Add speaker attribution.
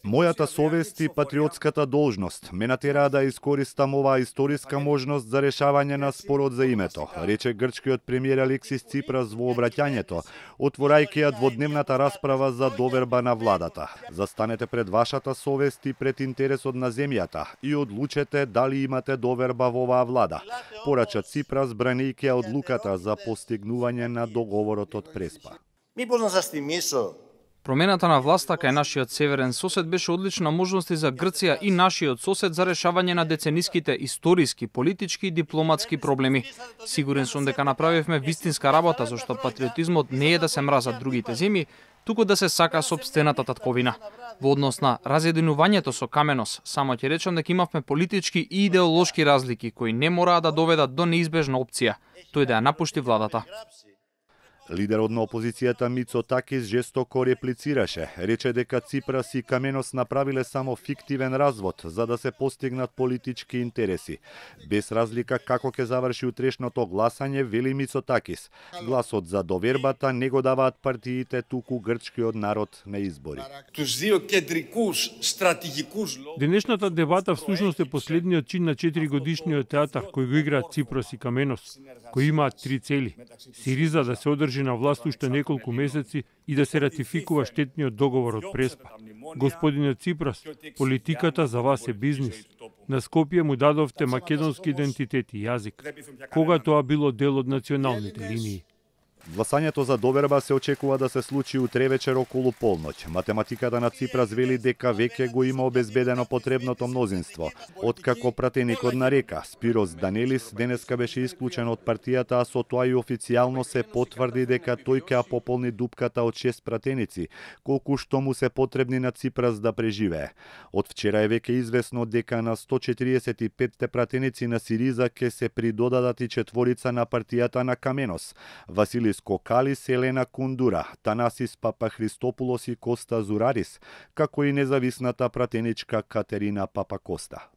Speaker 1: Мојата совест и патриотската должност ме натераа да искористам оваа историска можност за решавање на спорот за името, рече грчкиот премиер Алексис Ципрас во обраќањето, отворајќи ја дводневната расправа за доверба на владата. Застанете пред вашата совест и пред интересот на земјата и одлучете дали имате доверба во оваа влада, порача Ципрас бранејќи ја одлуката за постигнување на договорот од Преспа.
Speaker 2: Мипош на застимисо.
Speaker 3: Промената на власта кај нашиот северен сосед беше одлична можност и за Грција и нашиот сосед за решавање на децениските историски, политички и дипломатски проблеми. Сигурен сум дека направивме вистинска работа, зашто патриотизмот не е да се мразат другите земји, туку да се сака сопстената татковина. Во однос на разединувањето со Каменос, само ќе речам дека имавме политички и идеолошки разлики кои не мораа да доведат до неизбежна опција, тој да ја напушти владата.
Speaker 1: Лидерот на опозицијата Мицотакис жестоко реплицираше, рече дека Ципрас и Каменос направиле само фиктивен развод за да се постигнат политички интереси. Без разлика како ќе заврши утрешното гласање, вели Мицотакис, гласот за довербата не го даваат партиите, туку грчкиот народ на избори.
Speaker 4: Денешната дебата всушност е последниот чин на 4-годишниот театар кој го играат Ципрас и Каменос, кои имаат 3 цели: Сириза да се одржи на власт уште неколку месеци и да се ратификува штетниот договор од Преспа. Господине Ципрас, политиката за вас е бизнис. На Скопје му дадовте македонски идентитет и јазик, кога тоа било дел од националните линии.
Speaker 1: Гласањето за доверба се очекува да се случи утре вечер околу полноќ. Математиката на Ципрас вели дека веќе го има обезбедено потребното мнозинство. Откако пратеникот на река Спирос Данелис денеска беше исклучен од партијата, а со тоа и официјално се потврди дека тој ќе пополни дупката од 6 пратеници, колку што му се потребни на Ципрас да преживее. Од вчера е веќе известно дека на 145 пратеници на Сириза ќе се придодадат и 4 на партијата на Каменос. Василис Кокалис, Елена Кундура, Танасис Папахристопулос и Коста Зурарис, како и независната пратеничка Катерина Папакоста.